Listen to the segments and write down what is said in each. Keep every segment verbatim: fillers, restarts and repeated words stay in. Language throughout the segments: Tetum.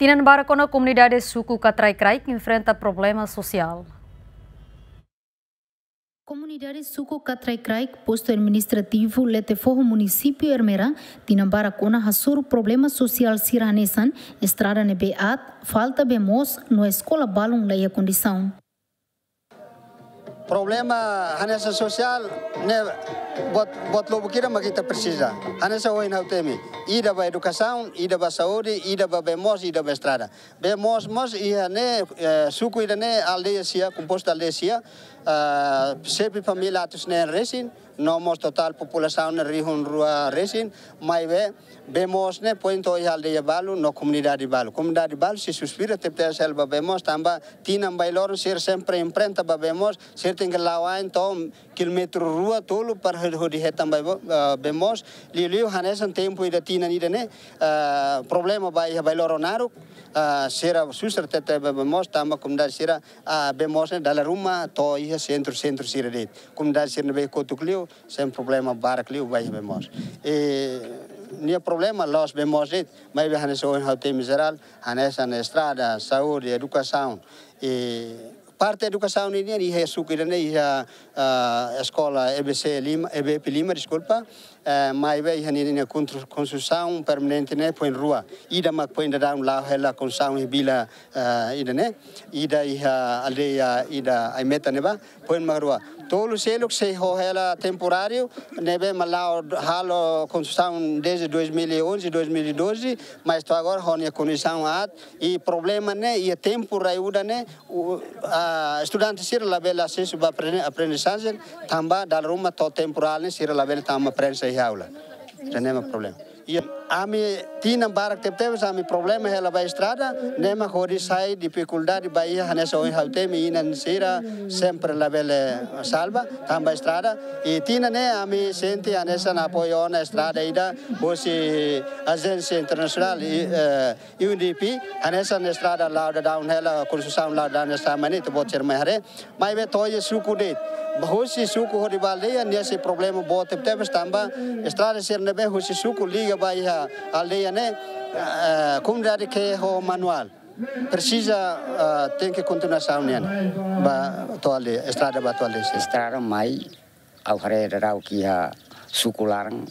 Tinan barak ona komunidade suku Katraikraik enfrenta problema sosiál. Komunidade suku Katraikraik, postu administrativu Letefoho, munisípiu Ermera, tinan barak ona hasoru problema sosiál sira hanesan estrada ne'ebé aat, falta bee moos, no eskola balun la iha kondisaun. Problema hanesan sosiál ne'e buat, buat lubuk ida mak ita presiza. Hanesan ohin ha'u temi. Ida ba edukasaun, ida ba saúde, ida ba bee moos, ida ba estrada. Bee moos mós iha ne'e, eh, suku ida-ne'e aldeia sia, kompostu aldeia sia, ah, xefe família atus neen resin, no mós totál populasaun ne'e rihun rua resin, maibé bee moos ne'e foin to'o iha aldeia balu, no komunidade balu. Komunidade balu sei suspira tebes hela ba bee moos, tanba tinan bainhira loron sira sempre enfrenta ba bee moos, sira tenke la'o ain to'o kilómetru rua tolu para hodi, hodi hetan ba bee, ah, bee moos, liuliu hanesan tempu ida tinan ida-ne'e, ah, problema ba iha bainhira loron naruk, ah, sira susar tebes ba bee moos, tanba komunidade sira, ah, bee moos ne'e dala ruma to'o iha sentru, sentru sira de'it. Komunidade sira ne'ebé kotuk liu, sempre problema barak liu ba iha bee moos. I nia problema la'ós bee moos de'it, maibé hanesan ohin ha'u temi jerál, hanesan estrada, saúde, edukasaun. I parte edukasaun nian iha suku ida-ne'e iha, ah, eskola E B C lima, E B P lima, deskulpa. Eh, maibé iha ninia kontru-, konstrusaun permanente ne'e foin rua. Ida mak foin daudaun la'o hela konstrusaun iha vila, eh, ida-ne'e. Ida iha aldeia ida Aimeta ne'ebá, foin mak rua. Tolu seluk sei ho hela temporáriu, ne'ebé mak la'o halo konstrusaun desde dois mil e onze, dois mil e doze, mas to'o agora ho nia kondisaun aat, i problema ne'e, iha tempu rai-udan ne'e, u-, ah, estudante sira labele asesu ba apren-, aprendizajen, tanba dala ruma to'o temporál ne'e sira labele tama prensa iha aula. Ida-ne'e mak problema. I ami tinan barak tebetebes ami problema hela ba estrada, ne'e mak hodi sai difikuldade ba iha hanesan ohin ha'u temi inan sira sempre labele salva, tanba estrada. I tinan ne'e ami sente hanesan apoiu ona estrada ida, husi ajénsia internasionál, i, eh, U N D P, hanesan estrada la'o daudaun hela, konstrusaun la'o daudaun estrada mai ne'e, ita-boot sira mai haree. Maibé to'o iha suku de'it. Ba husi suku hodi ba aldeia, nia sei problema boot tebetebes tanba estrada sira ne'ebé husi suku liga ba iha aldeia ne'e, eh, komunidade ke ho manuál. Presiza, eh, tenke kontinuasaun nian. Ba to'o aldeia, estrada ba to'o aldeia sira. Estrada mai, ha'u haree daudauk iha suku laran,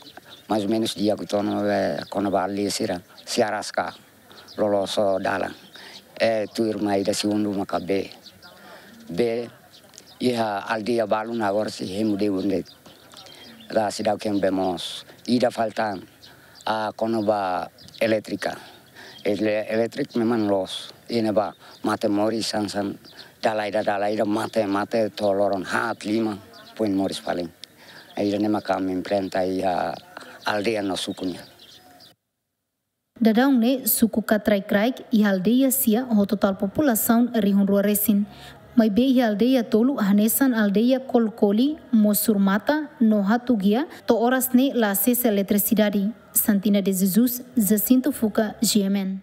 mais ou menus di'ak uitoan, eh, kona-ba aldeia sira, sei araska loloos dalan. Eh, tuirmai ida segundu maka bee. Bee, iha aldeia balun agora sei hemu debun de'it. La seidauk iha bee moos. Ida falta, ah, kona-ba elétrika. Ele-, elétrika memang loos. Iha ne'ebá mate moris hanesan dala ida, dala ida mate, mate to'o loron haat lima foin moris fali. Ida-ne'e maka ami enfrenta iha aldeia no suku nian. Daudaun ne'e suku Katraikraik iha aldeia sia ho totál populasaun rihun rua resin. Maibé iha aldeia tolu hanesan aldeia Kolkoli, Mosurmata, no Hatugia, to'o oras ne'e la asesu eletrisidade. Santina de Jesus, Jacinto Fuca, G M N.